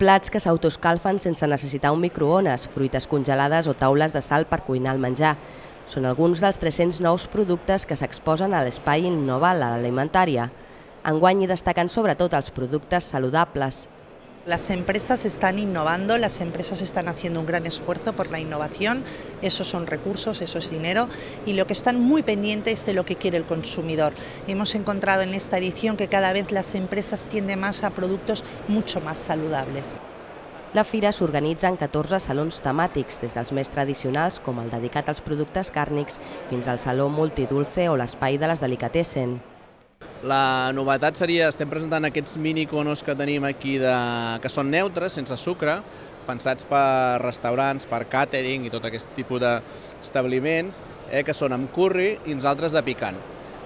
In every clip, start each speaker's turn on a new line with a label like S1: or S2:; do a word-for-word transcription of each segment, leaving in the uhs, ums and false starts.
S1: Plats que s'autoscalfen sense necessitar un microones, fruites congelades o taules de sal per cuinar el menjar. Són alguns dels tres-cents nous productes que s'exposen a l'Espai Innova l'Alimentària. Enguany hi destaquen sobretot els productes saludables.
S2: Las empresas están innovando, las empresas están haciendo un gran esfuerzo por la innovación, esos son recursos, eso es dinero, y lo que están muy pendientes de lo que quiere el consumidor. Hemos encontrado en esta edición que cada vez las empresas tienden más a productos mucho más saludables.
S1: La fira s'organitza en catorze salons temàtics, des dels més tradicionals, com el dedicat als productes càrnics, fins al saló multidulce o l'espai de les delicatessen.
S3: La novetat seria, estem presentant aquests mini conos que tenim aquí de, que són neutres, sense sucre, pensats per restaurants, per càtering i tot aquest tipus d'establiments, eh, que són amb curri i uns altres de picant.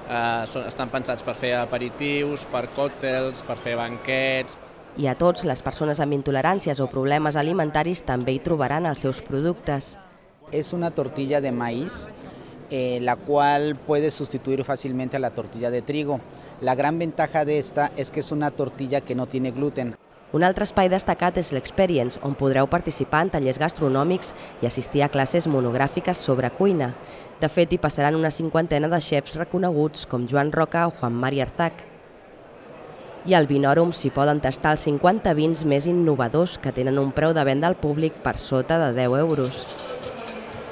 S3: Eh, són, estan pensats per fer aperitius, per còctels, per fer banquets.
S1: I a tots, les persones amb intoleràncies o problemes alimentaris també hi trobaran els seus productes.
S4: És una tortilla de maíz, Eh, la cual puede sustituir fácilmente a la tortilla de trigo. La gran ventaja de esta es que es una tortilla que no tiene gluten.
S1: Un altre espai destacat és l'Experience, on podreu participar en tallers gastronòmics i assistir a classes monogràfiques sobre cuina. De fet, hi passaran una cinquantena de xefs reconeguts com Joan Roca o Juan Mari Artac. I al Vinòrum s'hi poden tastar els cinquanta vins més innovadors que tenen un preu de venda al públic per sota de deu euros.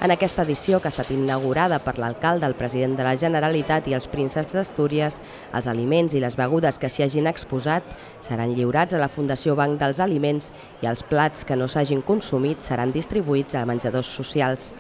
S1: En aquesta edició, que ha estat inaugurada per l'alcalde, el president de la Generalitat i els prínceps d'Astúries, els aliments i les begudes que s'hi hagin exposat seran lliurats a la Fundació Banc dels Aliments i els plats que no s'hagin consumit seran distribuïts a menjadors socials.